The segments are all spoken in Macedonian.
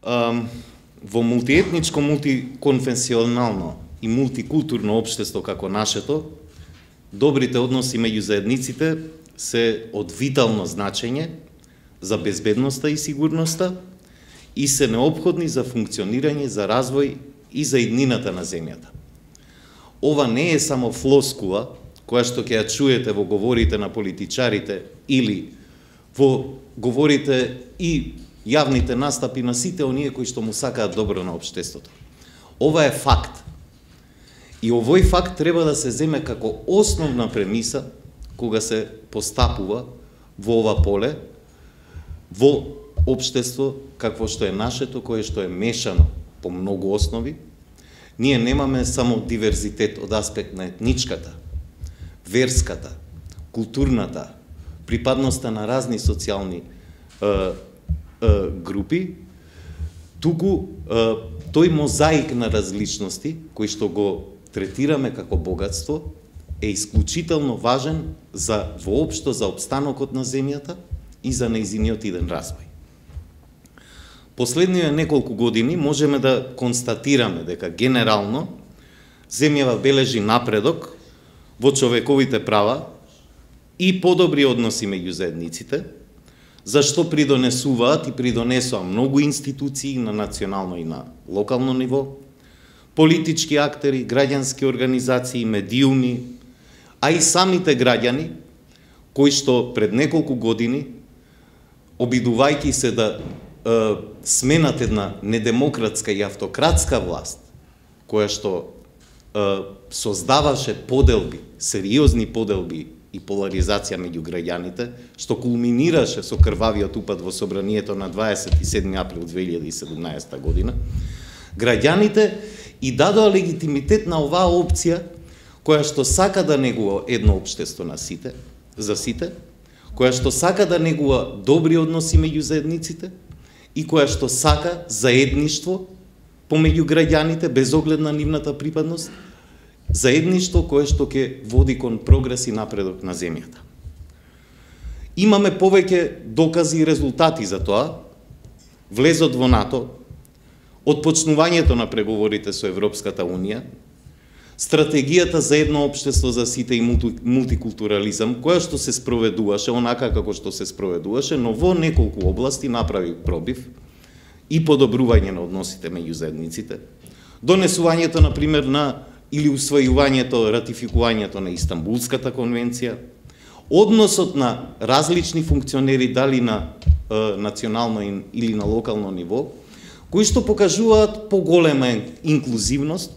во мултиетничко, мултиконфесионално и мултикултурно општество како нашето, добрите односи меѓу заедниците се од витално значење за безбедноста и сигурноста и се неопходни за функционирање, за развој и за иднината на земјата. Ова не е само флоскула, која што ќе ја чуете во говорите на политичарите или во говорите и јавните настапи на сите оние кои што му сакаат добро на општеството. Ова е факт. И овој факт треба да се земе како основна премиса кога се постапува во ова поле, во општество какво што е нашето, кое што е мешано по многу основи. Ние немаме само диверзитет од аспект на етничката, верската, културната, припадноста на разни социјални групи, туку тој мозаик на различности, кој што го третираме како богатство, е исклучително важен за воопшто за опстанокот на земјата и за нејзиниот иден развој. Последниве неколку години можеме да констатираме дека генерално земјава бележи напредок во човековите права и подобри односи меѓу заедниците, зашто придонесуваат и придонесоа многу институции на национално и на локално ниво, политички актери, граѓански организации, медиуми, а и самите граѓани, кои што пред неколку години, обидувајќи се да сменат една недемократска и автократска власт, која што создаваше поделби, сериозни поделби и поларизација меѓу граѓаните, што кулминираше со крвавиот упад во собранието на 27 април 2017 година, граѓаните и дадоа легитимитет на оваа опција, која што сака да негува едно општество на сите, за сите, која што сака да негува добри односи меѓу заедниците и која што сака заедништво помеѓу граѓаните без оглед на нивната припадност, заедништво кое што ќе води кон прогрес и напредок на земјата. Имаме повеќе докази и резултати за тоа. Влезот во НАТО, од почнувањето на преговорите со Европската Унија, стратегијата за едно општество за сите и мултикултурализам, која што се спроведуваше онака како што се спроведуваше, но во неколку области направи пробив и подобрување на односите меѓу заедниците. Донесувањето, например, на или усвојувањето, ратификувањето на Истанбулската конвенција, односот на различни функционери, дали на национално или на локално ниво, кои што покажуваат поголема инклузивност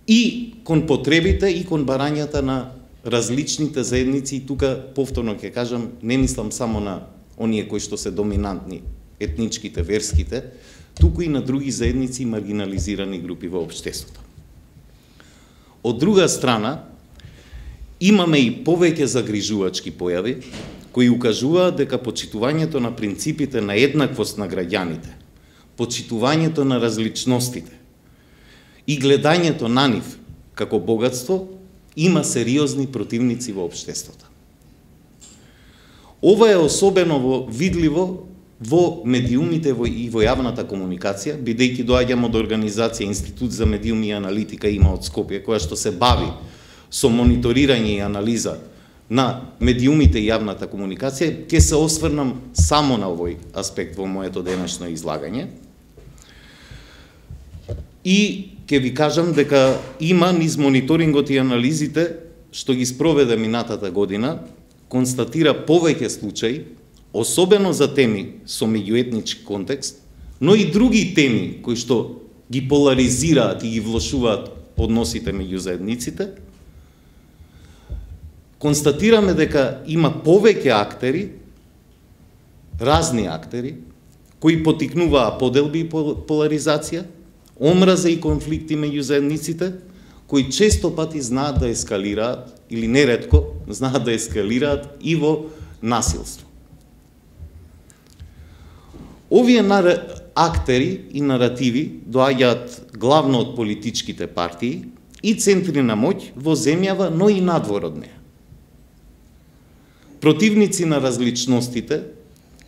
и кон потребите и кон барањата на различните заедници. И тука повторно ќе кажам, не мислам само на оние кои што се доминантни, етничките, верските, туку и на други заедници и маргинализирани групи во општеството. Од друга страна, имаме и повеќе загрижувачки појави, кои укажуваат дека почитувањето на принципите на еднаквост на граѓаните, почитувањето на различностите и гледањето на нив како богатство има сериозни противници во општеството. Ова е особено видливо во медиумите и во јавната комуникација, бидејќи доаѓам од организација Институт за медиуми и аналитика има од Скопје, која што се бави со мониторирање и анализа на медиумите и јавната комуникација. Ќе се осврнам само на овој аспект во моето денешно излагање. И ќе ви кажам дека има низ мониторингот и анализите што ги спроведе минатата година, констатира повеќе случаи, особено за теми со меѓуетнички контекст, но и други теми кои што ги поларизираат и ги влошуваат односите меѓу заедниците. Констатираме дека има повеќе актери, разни актери, кои потикнуваа поделби и поларизација, омраза и конфликти меѓу заедниците, кои често пати знаат да ескалираат, или неретко знаат да ескалираат и во насилство. Овие актери и наративи доаѓаат главно од политичките партии и центри на моќ во земјава, но и надвор од неа. Противници на различностите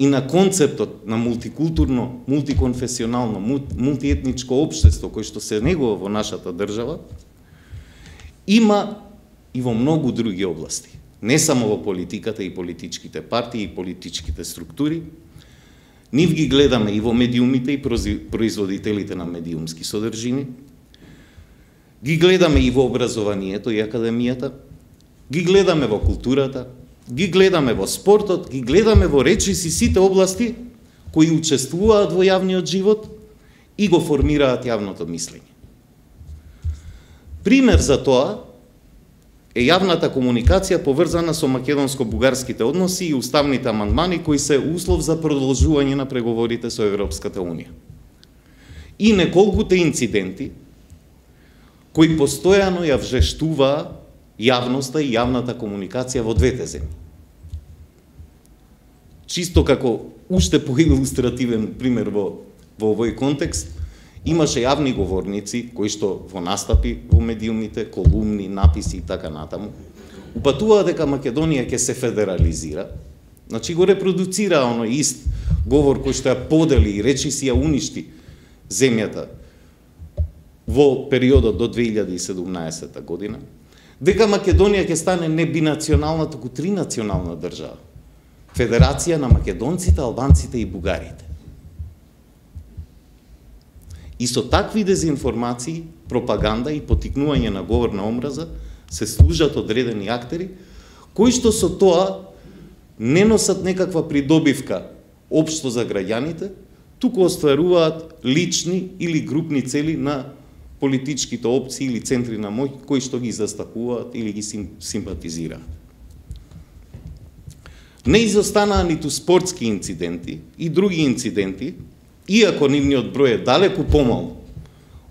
и на концептот на мултикултурно, мултиконфесионално, мултиетничко општество кој што се негува во нашата држава, има и во многу други области. Не само во политиката и политичките партии и политичките структури, нив ги гледаме и во медиумите и производителите на медиумски содржини, ги гледаме и во образованието и академијата, ги гледаме во културата, ги гледаме во спортот, ги гледаме во речиси сите области кои учествуваат во јавниот живот и го формираат јавното мислење. Пример за тоа е јавната комуникација поврзана со македонско-бугарските односи и уставните амандмани кои се услов за продолжување на преговорите со Европската Унија. И неколкуте инциденти кои постојано ја вжештуваа јавноста и јавната комуникација во двете земји. Чисто како уште поилустративен пример во овој контекст, имаше јавни говорници кои што во настапи во медиумите, колумни, написи и така натаму, упатуваа дека Македонија ќе се федерализира, значи го репродуцира оној ист говор кој што ја подели и речиси ја уништи земјата во периодот до 2017 година, дека Македонија ќе стане не бинационална, туку тринационална држава. Федерација на македонците, албанците и бугарите. И со такви дезинформации, пропаганда и потикнување на говор на омраза се служат одредени актери, кои што со тоа не носат некаква придобивка општо за граѓаните, туку остваруваат лични или групни цели на политичките опции или центри на моќ кои што ги застапуваат или ги симпатизираат. Не изостанаа ниту спортски инциденти и други инциденти, иако нивниот број е далеку помал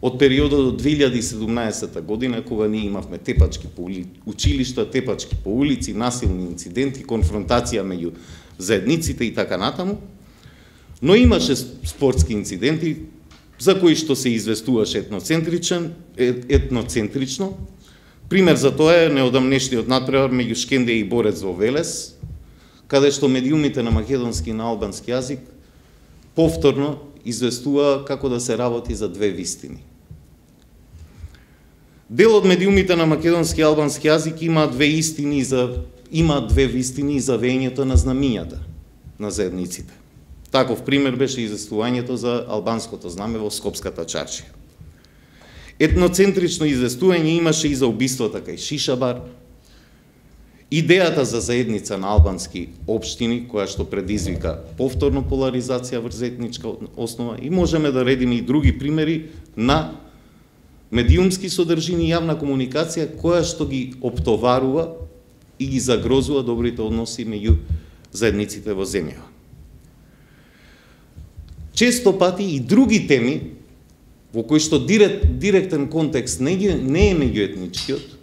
од периодот до 2017 година, кога ние имавме тепачки по училишта, тепачки по улици, насилни инциденти, конфронтација меѓу заедниците и така натаму, но имаше спортски инциденти за кои што се известуваше етноцентрично. Пример за тоа е неодамнешниот натпревар меѓу Шкендија и Борец во Велес, каде што медиумите на македонски и на албански јазик повторно известува како да се работи за две вистини. Дел од медиумите на македонски и албански јазик има две вистини за веењето на знамињата на заедниците. Таков пример беше известувањето за албанското знаме во Скопската чаршија. Етноцентрично известување имаше и за убиството кај Шишабар, идејата за заедница на албански општини, која што предизвика повторно поларизација врз етничка основа, и можеме да редиме и други примери на медиумски содржини и јавна комуникација која што ги оптоварува и ги загрозува добрите односи меѓу заедниците во земјава. Често пати и други теми во кои што директен контекст не е меѓуетничкиот,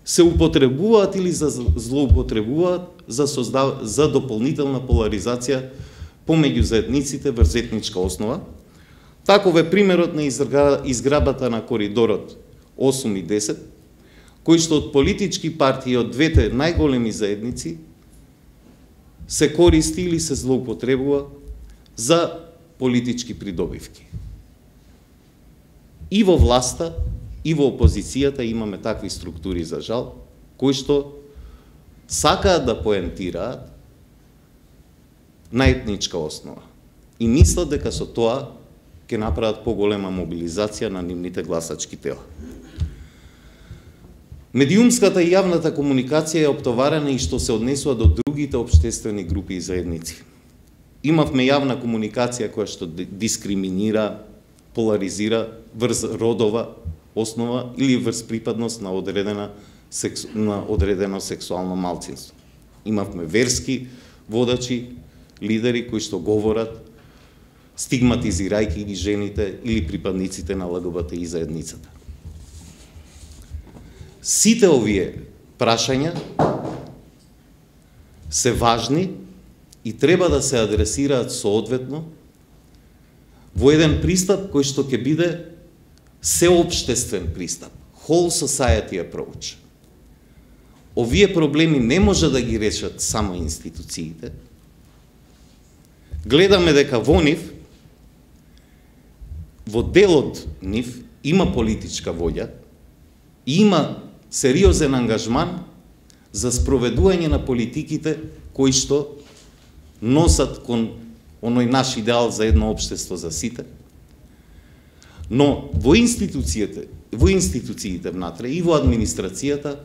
се употребуваат или злоупотребуваат за дополнителна поларизација помеѓу заедниците врз етничка основа. Таков е примерот на изграбата на коридорот 8 и 10, кој што од политички партии од двете најголеми заедници се користи или се злоупотребува за политички придобивки. И во власта, и во опозицијата имаме такви структури, за жал, кои што сакаат да поентираат на етничка основа и мислат дека со тоа ќе направат поголема мобилизација на нивните гласачки тела. Медиумската и јавната комуникација е оптоварена и што се однесува до другите општествени групи и заедници. Имавме јавна комуникација која што дискриминира, поларизира врз родова основа или врз припадност на одредено сексуално малцинство. Имавме верски водачи, лидери кои што говорат стигматизирајќи ги жените или припадниците на ЛГБТИ заедницата. Сите овие прашања се важни и треба да се адресираат соодветно во еден пристап кој што ќе биде сеопштествен пристап, whole society approach. Овие проблеми не може да ги решат само институциите, гледаме дека во нив, во делот нив, има политичка воља, има сериозен ангажман за спроведување на политиките кои што носат кон оној наш идеал за едно општество за сите. Но во институциите внатре и во администрацијата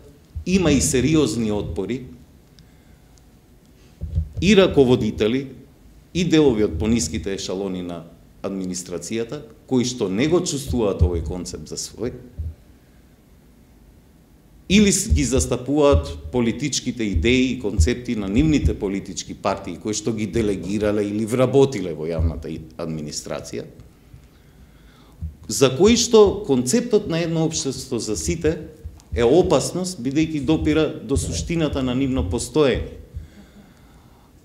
има и сериозни отпори и раководители и делови од пониските ешалони на администрацијата кои што не го чувствуваат овој концепт за свој или ги застапуваат политичките идеи и концепти на нивните политички партии кои што ги делегирале или вработиле во јавната администрација, за кои што концептот на едно општество за сите е опасност, бидејќи допира до суштината на нивно постоење.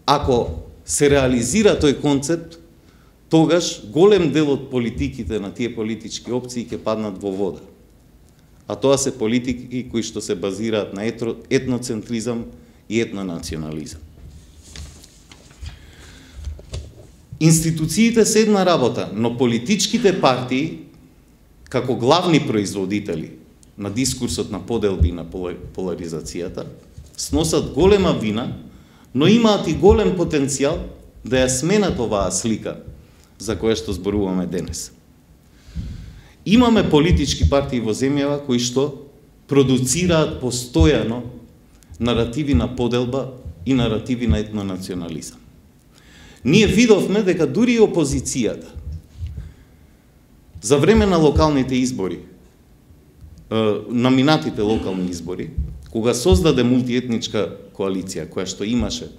Ако се реализира тој концепт, тогаш голем дел од политиките на тие политички опции ќе паднат во вода. А тоа се политики кои што се базираат на етноцентризам и етнонационализам. Институциите се една работа, но политичките партии, како главни производители на дискурсот на поделби и на поларизацијата, сносат голема вина, но имаат и голем потенцијал да ја сменат оваа слика за која што зборуваме денес. Имаме политички партии во земјава кои што продуцираат постојано наративи на поделба и наративи на етнонационализам. Ние видовме дека дури и опозицијата за време на локалните избори, на минатите локални избори, кога создаде мултиетничка коалиција која што имаше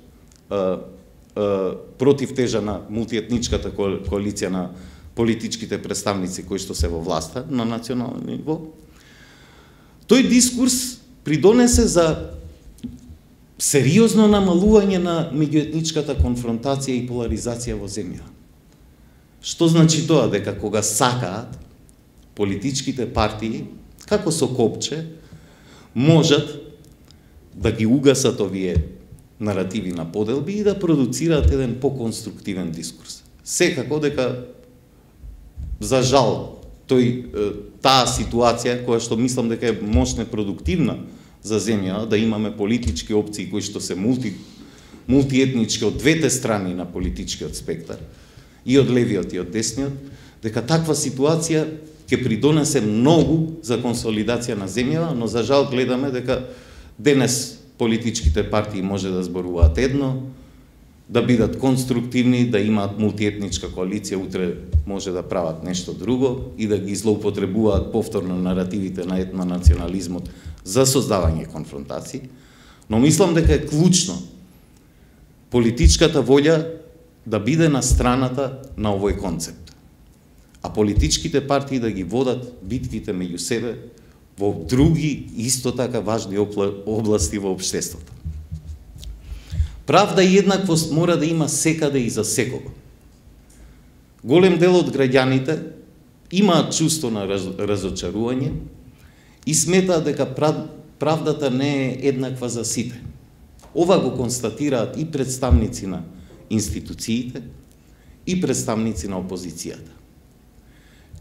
против тежа на мултиетничката коалиција на политичките представници кои што се во власта на национално ниво, тој дискурс придонесе за сериозно намалување на меѓуетничката конфронтација и поларизација во земја. Што значи тоа? Дека кога сакаат, политичките партии, како со копче, можат да ги угасат овие наративи на поделби и да продуцираат еден поконструктивен дискурс. Секако дека, за жал, таа ситуација, која што мислам дека е мощно продуктивна за земја, да имаме политички опции кои што се мултиетнички од двете страни на политичкиот спектар, и од левиот и од десниот, дека таква ситуација ќе придонесе многу за консолидација на земјава, но за жал гледаме дека денес политичките партии може да зборуваат едно, да бидат конструктивни, да имаат мултиетничка коалиција, утре може да прават нешто друго и да ги злоупотребуваат повторно наративите на етнонационализмот за создавање конфронтации, но мислам дека е клучно политичката воља да биде на страната на овој концепт, а политичките партии да ги водат битките меѓу себе во други исто така важни области во општеството. Правда и еднаквост мора да има секаде и за секого. Голем дел од граѓаните имаат чувство на разочарување и сметаат дека правдата не е еднаква за сите. Ова го констатираат и представници на институциите и представници на опозицијата.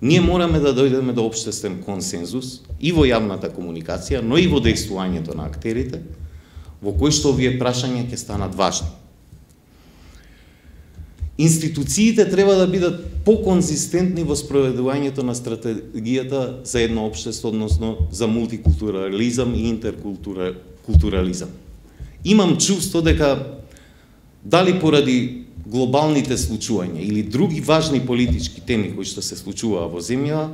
Ние мораме да дојдеме до општествен консензус и во јавната комуникација, но и во дејствувањето на актерите, во кои што овие прашања ќе станат важни. Институциите треба да бидат поконзистентни во спроведувањето на стратегијата за едно општество, односно за мултикултурализам и интеркултурализам. Имам чувство дека дали поради глобалните случувања или други важни политички теми кои што се случуваа во земја,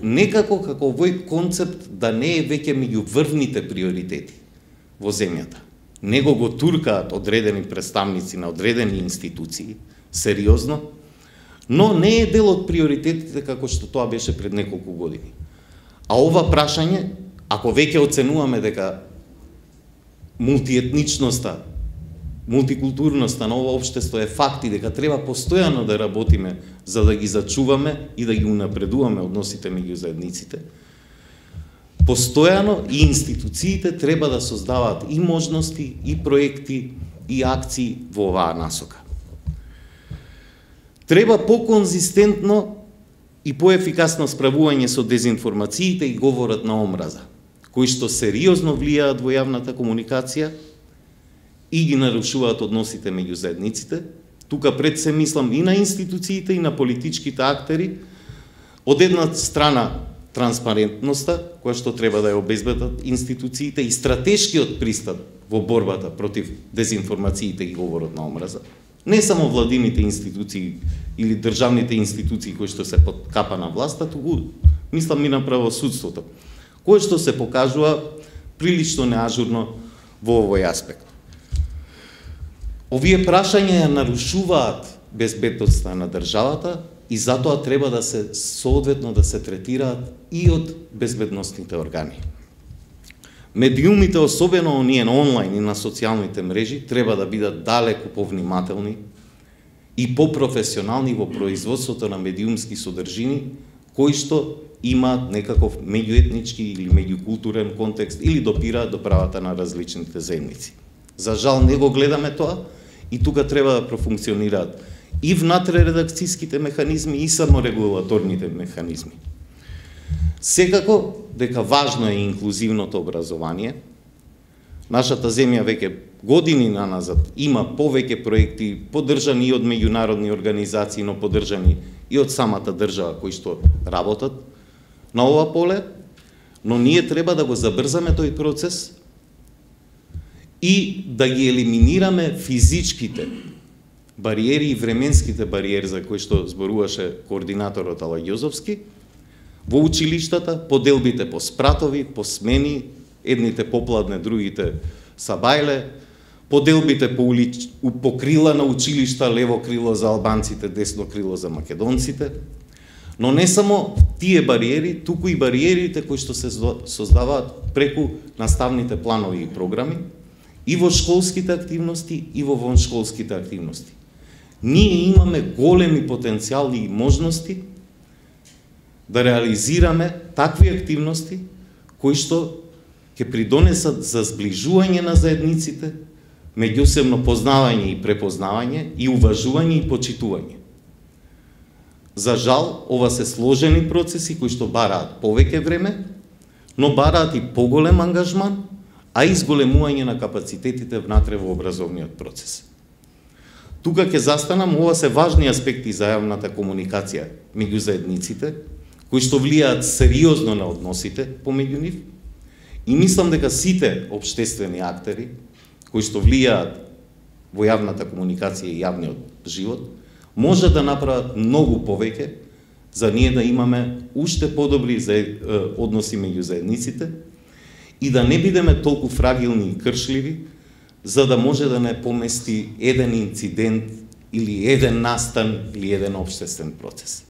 некако како овој концепт да не е веќе меѓу врвните приоритети во земјата. Него го туркаат одредени представници на одредени институции, сериозно, но не е дел од приоритетите како што тоа беше пред неколку години. А ова прашање, ако веќе оценуваме дека мултиетничноста, мултикултурноста на ова општество е факт и дека треба постојано да работиме за да ги зачуваме и да ги унапредуваме односите меѓу заедниците, постојано и институциите треба да создаваат и можности, и проекти, и акции во оваа насока. Треба поконзистентно и поефикасно справување со дезинформациите и говорот на омраза, кои што сериозно влијаат во јавната комуникација и ги нарушуваат односите меѓу заедниците. Тука пред се мислам и на институциите и на политичките актери. Од една страна транспарентноста, која што треба да ја обезбедат институциите, и стратешкиот пристап во борбата против дезинформациите и говорот на омраза. Не само владините институции или државните институции кои што се под капа на власта, туку мислам и на правосудството, кое што се покажува прилично неажурно во овој аспект. Овие прашања нарушуваат безбедноста на државата и затоа треба да се соодветно да се третираат и од безбедносните органи. Медиумите, особено оние на онлайн и на социјалните мрежи, треба да бидат далеку повнимателни и попрофесионални во производството на медиумски содржини, кои што имаат некаков меѓуетнички или меѓукултурен контекст или допираат до правата на различните заедници. За жал не го гледаме тоа и тука треба да профункционираат и внатрередакцијските механизми и саморегулаторните механизми. Секако дека важно е инклузивното образование. Нашата земја веќе години наназад има повеќе проекти поддржани и од меѓународни организации, но поддржани и од самата држава кои што работат на ова поле, но ние треба да го забрзаме тој процес и да ги елиминираме физичките бариери и временските бариери за кои што зборуваше координаторот Алагјозовски во училиштата, поделбите по спратови, по смени, едните попладне, другите сабајле, поделбите по крила на училишта, лево крило за албанците, десно крило за македонците. Но не само тие бариери, туку и бариерите кои што се создаваат преку наставните планови и програми, и во школските активности, и во воншколските активности. Ние имаме големи потенцијали и можности да реализираме такви активности кои што ќе придонесат за зближување на заедниците, меѓусебно познавање и препознавање, и уважување и почитување. За жал, ова се сложени процеси кои што бараат повеќе време, но бараат и поголем ангажман, а и зголемување на капацитетите внатре во образовниот процес. Тука ќе застанам, ова се важни аспекти за јавната комуникација меѓу заедниците, кои што влијаат сериозно на односите помеѓу нив, и мислам дека сите општествени актери кои што влијаат во јавната комуникација и јавниот живот, може да направат многу повеќе за ние да имаме уште подобри односи меѓу заедниците и да не бидеме толку фрагилни и кршливи, за да може да не помести еден инцидент или еден настан или еден општествен процес.